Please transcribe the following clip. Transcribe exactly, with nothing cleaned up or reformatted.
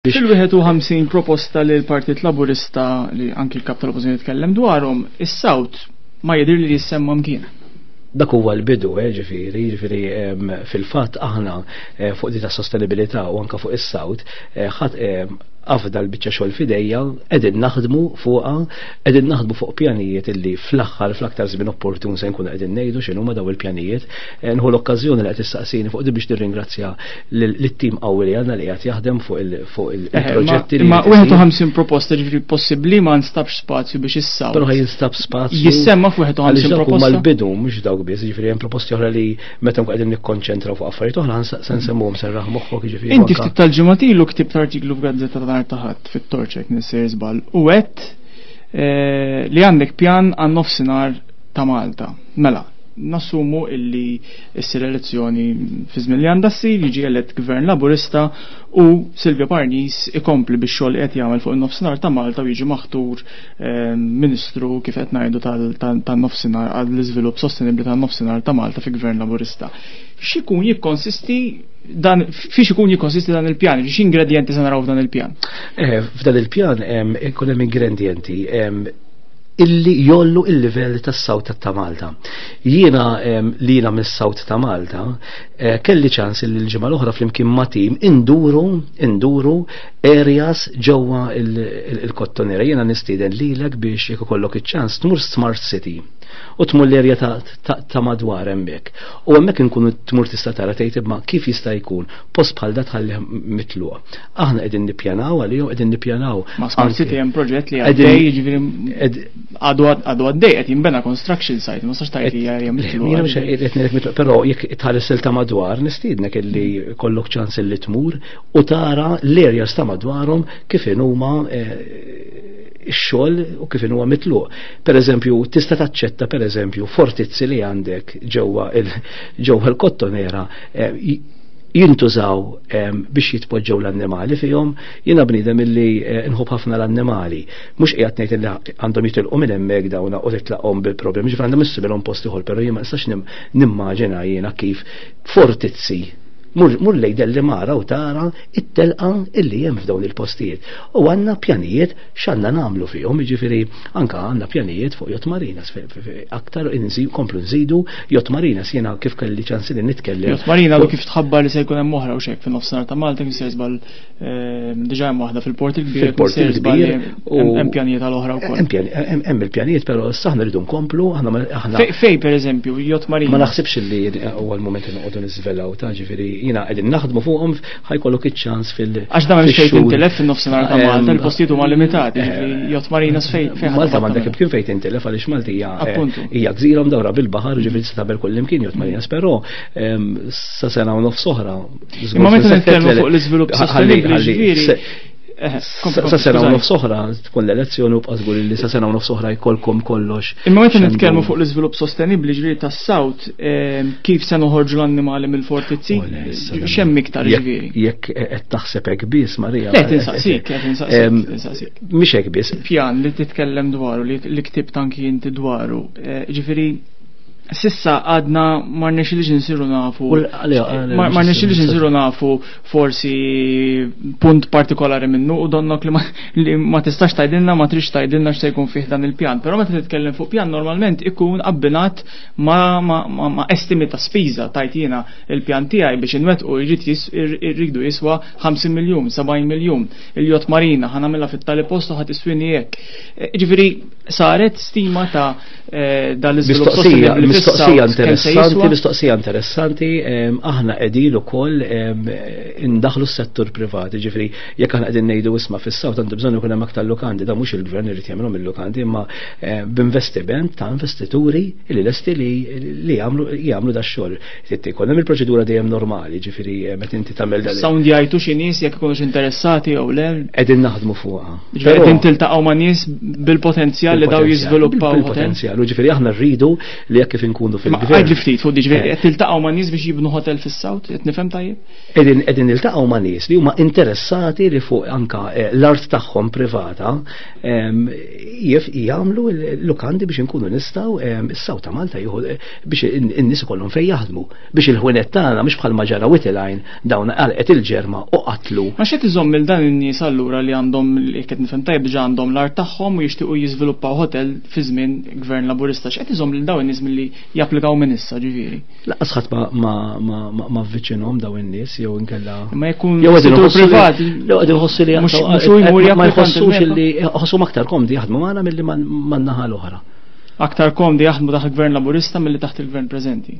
Fil-wieħed u ħamsin proposta li l-Partit Laburista, li anki l-kap tal-Oppożizzjoni tkellem dwarhom, is-South ma jidhir li jissemma mkien. Dak huwa l-bidu, eh, ġifieri, ġifieri fil-fatt aħna eh, fuq di ta' sostenibilità u anka fuq is-South eh, ħadd afda l-biċċa xogħol f'idejja, qegħdin naħdmu fuqha, qegħdin naħdmu fuq pjanijiet illi fl-aħħar, fl-aktar żmien opportun, se nkunu qegħdin ngħidu x'inhuma daw il-pjanijiet. Nħu l-okkażjoni li qed issaqsini fuq di biex nirringrazzja lit-tim qawwi li għandna li qed jaħdem fuq il-proġetti. Ma wieħed u ħamsin proposta, ġifieri possibbli ma nstabx spazju biex is-South. Però jinstab spazju. Jissemma f'wieħed u ħamsin proposta. Mal-bidu mhux dawk biss, ġifieri hemm proposti oħra li meta nkun qegħdin nikkonċentraw fuq affarijiet oħra se nsemmuhom, serraħ moħħok, ġifieri. Inti ftit tal-ġimgħat ilu ktibt artiklu f'gazzetta ta' nhar ta' Ħadd, fit-Torċ, m'iniex żball, u għedt eh, li għandek pjan għan nofsinhar ta' Malta. Mela, nassumu illi issir elezzjoni fi żmien li għandha ssir, jiġi elett gvern Laburista u Silvio Parnis ikompli biex xogħol qed jagħmel fuq in-nofsinhar ta' Malta u jiġi maħtur eh, ministru, kif qed ngħidu, tan-nofsinhar, għall-iżvilupp sostenibbli tan-nofsinhar ta' Malta fi gvern Laburista. X'ikun jikkonsisti dan, fiex ikun jikkonsisti dan il-pjan, x'ingredjenti se naraw f'dan il-pjan? Eh, f'dan il-pjan ikun hemm ingredienti illi jgħollu il-livell tas-South ta' Malta. Jiena li jiena mis-South ta' Malta eh, kelli ċans li l-ġimgħa l-oħra flimkien ma' tim induru induru areas ġewwa il-Kottonera. Jiena nistieden lilek biex jekk ikollok iċ-ċans tmur Smart City u tmur l-erja ta' madwar hemmhekk. U hemmhekk inkunu tmur tista' tara, tgħid, ma kif jista' jkun post bħal da tħalli mitluq? Aħna qegħdin nippjanaw għalihom, qegħdin nippjanaw. Ma Smart City hemm proġett li għaddej, jiġifieri għadu għadu għaddej, qed jinbena, construction site, ma sax tgħid li hija mitluq. Jiena mhux qed ngħidlek mitluq, però jekk tħares ta' madwar, nistiednek illi kollok ċans illi tmur u tara l-areas ta' madwarhom kif huma eh, ix-xogħol u kif huwa mitluq. Per eżempju, tista' taċċetta, per eżempju, fortizzi li għandek ġewwa ġewwa l-Kottonera eh, jintużaw biex jitpoġġew l-annimali fihom? Jiena bniedem illi eh, nħobb ħafna l-annimali. Mhux qiegħed ngħid illi għandhom jitilqu minn hemmhekk dawna u titlaqhom bil-problemi, ġifieri għandhom issibilhom post ieħor, però jien ma nistax nimmaġina jiena kif fortizzi. Mur, mur lejn Delimara u tara it-telqa illi hemm f'dawn il-postijiet. U għandna pjanijiet x'għandna nagħmlu fihom, jiġifieri anka għandna pjanijiet fuq yacht marinas, aktar komplu nżidu yacht marinas, jiena kif kelli ċans li nitkellem. Yacht marina għadu kif tħabbar li se jkun hemm oħra u xek fin-nofsinhar ta' Malta, kif sejr żball, ehm, diġà hemm waħda fil-Port il-Kbir. Fil-Port il-Kbir. Hemm pjanijiet għal oħra wkoll. Hemm il-pjanijiet, però issa aħna rridu nkomplu, aħna Fej, per eżempju, yacht marina? Ma naħsibx li huwa l-mument li noqogħdu niżvelaw ta', ġifieri jiena qegħdin naħdmu fuqhom, ħa jkollok iċ-ċans fil- Għax da m'hemmx fejn tintilef fin-nofsinhar ta' Malta, il-postijiet huma limitati, ġifieri yacht marina fejn fejn Malta m'għandek kien fejn tintilef għaliex Malta hija hija gżira mdawra bil-baħar, ġifieri tista' tagħmel kull imkien yacht marinas, però sa sena u nofs oħra. Imma meta nitkellmu fuq l-iżvilupp sostenibbli, ġifieri Eh, sa sena u nofs oħra tkun l-elezzjoni u bqa' li sa sena u nofs oħra jkollkom kollox. Imma meta nitkellmu fuq l-iżvilupp sostenibbli, ġifieri tas-South, kif se noħorġu l-annimali mill-fortizzi? X'hemm iktar, ġifieri? Jekk qed taħseb hekk biss, Marija. Le, tinsaqsik, qed insaqsik. Mhix hekk biss. Pjan li titkellem dwaru, li ktibt anki inti dwaru, eh, ġifieri sissa għadna ma rnexxilix nsiru nafu. Ma rnexxilix nsiru nafu forsi punt partikolari minnu u donnok li ma tistax tgħidilna, ma trix tgħidilna x'se jkun fih dan il-pjan. Però meta titkellem fuq pjan, normalment ikun abbinat ma, ma, ma, ma estimi ta' spiża. Tajt jiena il-pjan tiegħi biex inwettqu jrid irridu jiswa ħamsin miljun, sebgħin miljun. Il-yacht marina ħa nagħmilha fit-tali postu, ħa tiswini hekk. E, ġifieri saret stima ta' e, dal-iżvilupp sostenibbli? Mistoqsija interessanti, mistoqsija interessanti, aħna qegħdin ukoll indaħlu s-settur privat, ġifieri jekk aħna qegħdin ngħidu, isma', fis-South għandu bżonn ikun hemm aktar lukandi, da mhux il-gvern irid jagħmilhom il-lukandi, imma b'investiment ta' investituri li lesti li li jagħmlu jagħmlu da xogħol. Trid ikun hemm il-proċedura dejjem normali, ġifieri meta inti tagħmel dan. Sound jgħidu xi nies jekk ikunux interessati jew le? Qegħdin naħdmu fuqha. Ġifieri qegħdin tiltaqgħu ma' nies bil-potenzjal li daw jiżviluppaw. Bil-potenzjal, u ġifieri aħna rridu li jekk kif inkunu fil-gvern. Għidli ftit fuq diġ, qed tiltaqgħu ma' nies biex jibnu hotel fis-South, qed nifhem tajjeb? Qegħdin qegħdin niltaqgħu ma' nies li huma interessati li fuq anka l-art tagħhom privata jif jagħmlu l-lukandi biex inkunu nistgħu is-South ta' Malta jieħu biex in-nies ikollhom fejn jaħdmu, biex il-ħwienet tagħna mhux bħal ma ġara Witilajn dawn għalqet il-ġerma u qatlu. Ma x'qed iżomm il dan in-nies allura li għandhom li qed nifhem tajjeb diġà għandhom l-art tagħhom u jixtiequ jiżviluppaw hotel fi żmien gvern Laburista, x'qed iżomm lil dawn in-nies milli japplikaw minn issa ġifieri? Lanqas ħadd ma ma ma ma avviċinhom dawn in-nies jew inkella. Imma jkun settur privat. Jew qegħdin iħossu li mhux hu jmur ma jħossux li ħossuhom aktar komdi jaħdmu magħna milli man-naħa l-oħra. Aktar komdi jaħdmu taħt il-gvern Laburista milli taħt il-gvern preżenti.